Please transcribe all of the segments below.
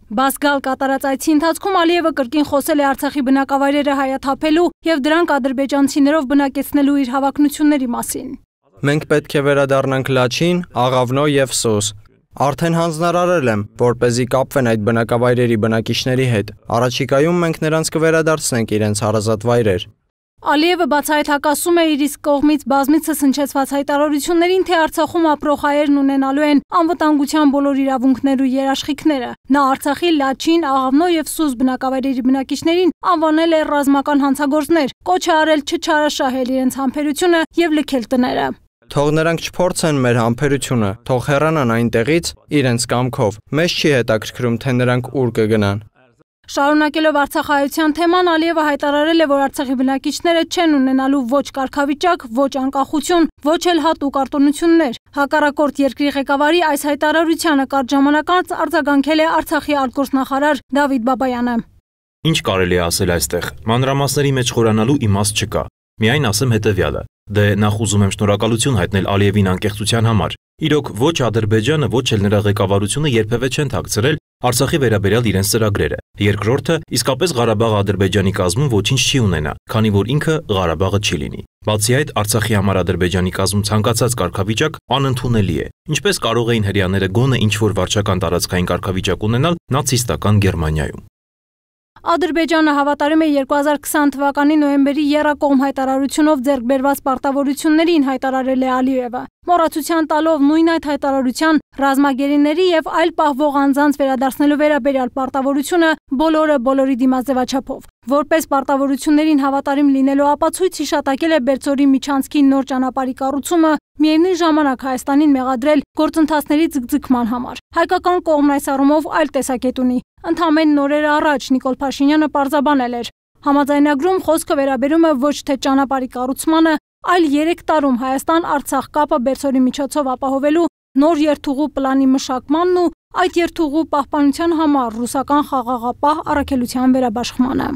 Բասգալ կատարած այցի ընթացքում Ալիևը կրկին խոսել է Արցախի բնակավայրերը հայաթափելու եւ դրանք ադրբեջանցիներով բնակեցնելու իր հավակնությունների մասին։ Մենք պետք է վերադառնանք Լաչին, Աղավնո եւ Սոս։ Արդեն հանձնարարել եմ, որպեսզի կապվեն այդ բնակավայրերի բնակիչների հետ։ Առաջիկայում մենք նրանց կվերադարձնենք իրենց հարազատ վայրեր։ Ալիևը բացահայտակասում է իր իսկ կողմից բազմիցս հնչեցված հայտարարություններին, թե Արցախում ապրող հայերն ունենալու են անվտանգության բոլոր իրավունքներ ու երաշխիքները։ Նա Արցախի Լաչին, Աղավնո եւ Սուս բնակավայրերի բնակիչներին անվանել է ռազմական հանցագործներ, կոչ է արել չչարաշահել իրենց համբերությունը եւ լքել տները։ Թող նրանք չփորձեն մեր համբերությունը, թող հեռանան այնտեղից իրենց կամքով։ Մեզ չի հետաքրքրում, թե նրանք ուր կգնան։ Շարունակելով արցախայության թեման, Ալիևը հայտարարել է, որ Արցախի բնակիչները չեն ունենալու ոչ կարգավիճակ, ոչ անկախություն, ոչ էլ հատուկ արտոնություններ։ Հակառակորդ երկրի ղեկավարի այս հայտարարությանը կարճ ժամանակ անց արձագանքել է Արցախի արտգործնախարար Դավիթ Բաբայանը։ Ինչ կարելի է ասել այստեղ։ Մանրամասների մեջ խորանալու իմաստ չկա։ Միայն ասեմ հետևյալը. դե նախ ուզում եմ շնորհակալություն հայտնել Ալիևին անկեղծության համար։ Իրոք ոչ Ադրբեջանը, ոչ էլ նրա ղեկավարությունը երբևէ չեն թաքցրել Արցախի վերաբերյալ իրենց ծրագրերը։ Երկրորդը, իսկապես Ղարաբաղը Ադրբեջանի կազմում ոչինչ չի ունենա, քանի որ ինքը Ղարաբաղը չի լինի։ Բացի այդ, Արցախի համար Ադրբեջանի կազմում ցանկացած կարգավիճակ անընդունելի է։ Ինչպես կարող էին հրեաները գոնե ինչ-որ վարչական տարածքային կարգավիճակ ունենալ նացիստական Գերմանիայում։ Ադրբեջանը հավատարիմ է 2020 թվականի նոյեմբերի եռակողմ հայտարարությունով ձեռք բերված պարտավորություններին, հայտարարել է Ալիևը։ Մոռացության տալով նույն այդ հայտարարության ռազմագերիների եւ այլ պահվող անձանց վերադարձնելու վերաբերյալ պարտավորությունը բոլորի դիմաց ձևաչափով։ Որպես պարտավորություններին հավատարիմ լինելու ապացույց հիշատակել է Բերձորի միջանցքի նոր ճանապարհի կառուցումը, միևնույն ժամանակ Հայաստանին մեղադրել գործընթացների ձգձգման համար։ Հայկական կողմն այս առումով այլ տեսակետ ունի։ Ընդամենը նորեր առաջ Նիկոլ Փաշինյանը պարզաբանել էր. համաձայնագրում խոսքը վերաբերում է ոչ թե ճանապարհի կառուցմանը, այլ 3 տարում Հայաստան-Արցախ կապը Բերձորի միջոցով ապահովելու նոր երթուղու պլանի մշակմանն ու այդ երթուղու պահպանության համար ռուսական խաղաղապահ առաքելության վերաբաշխմանը։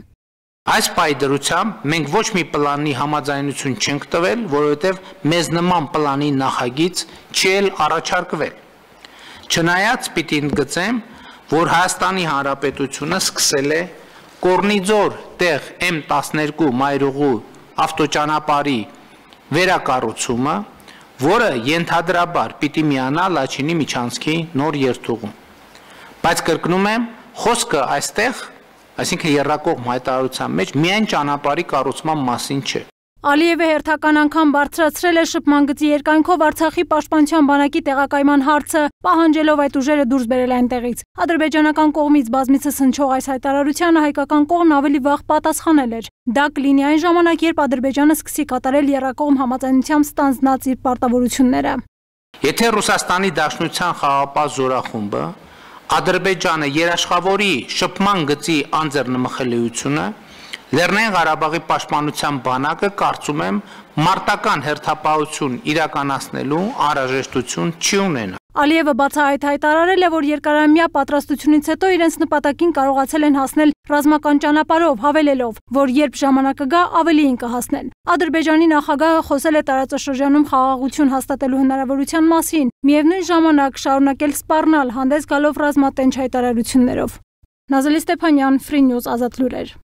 Այս պայդրությամբ մենք ոչ մի պլանի համաձայնություն չենք տվել, որովհետև մեզ նման պլանի նախագիծ չի էլ առաջարկվել։ Չնայած պիտի ընդգծեմ, որ Հայաստանի Հանրապետությունը սկսել է Կորնիձոր տեղ M12 մայրուղու ավտոճանապարհի վերակառուցումը, որը ենթադրաբար պիտի միանա Լաչինի միջանցքի նոր երթուղում։ Բայց կրկնում եմ, խոսքը այստեղ, այսինքն եռակողմ հայտարարության մեջ միայն ճանապարհի կառուցման մասին չէ։ Ալիևը հերթական անգամ բարձրացրել է շփման գծի երկայնքով Արցախի պաշտպանության բանակի տեղակայման հարցը, պահանջելով այդ ուժերը դուրս բերել այնտեղից։ Ադրբեջանական կողմից բազմիցս հնչող այս հայտարարությանը հայկական կողմն ավելի վաղ պատասխանել էր։ Դա կլինի այն ժամանակ, երբ Ադրբեջանը սկսի կատարել եռակողմ համաձայնությամբ ստանձնած իր պարտավորությունները։ Եթե Ռուսաստանի Դաշնության խաղաղապահ զորախումբը Ադրբեջանը երաշխավորի շփման գծի անձեռնմխելիությունը, Լեռնային Ղարաբաղի պաշտպանության բանակը կարծում եմ մարտական հերթապահություն իրականացնելու անհրաժեշտություն չի ունենա։ Ալիևը բացահայտ հայտարարել է, որ երկարամյա պատրաստությունից հետո իրենց նպատակին կարողացել են հասնել ռազմական ճանապարհով, հավելելով, որ երբ ժամանակը գա, ավելիին կհասնեն։ Ադրբեջանի նախագահը խոսել է տարածաշրջանում խաղաղություն հաստատելու հնարավորության մասին, միևնույն ժամանակ շարունակել սպառնալ հանդես գալով ռազմատենչ հայտարարություններով։ Նազելի Ստեփանյան, Free News, Ազատ լուրեր։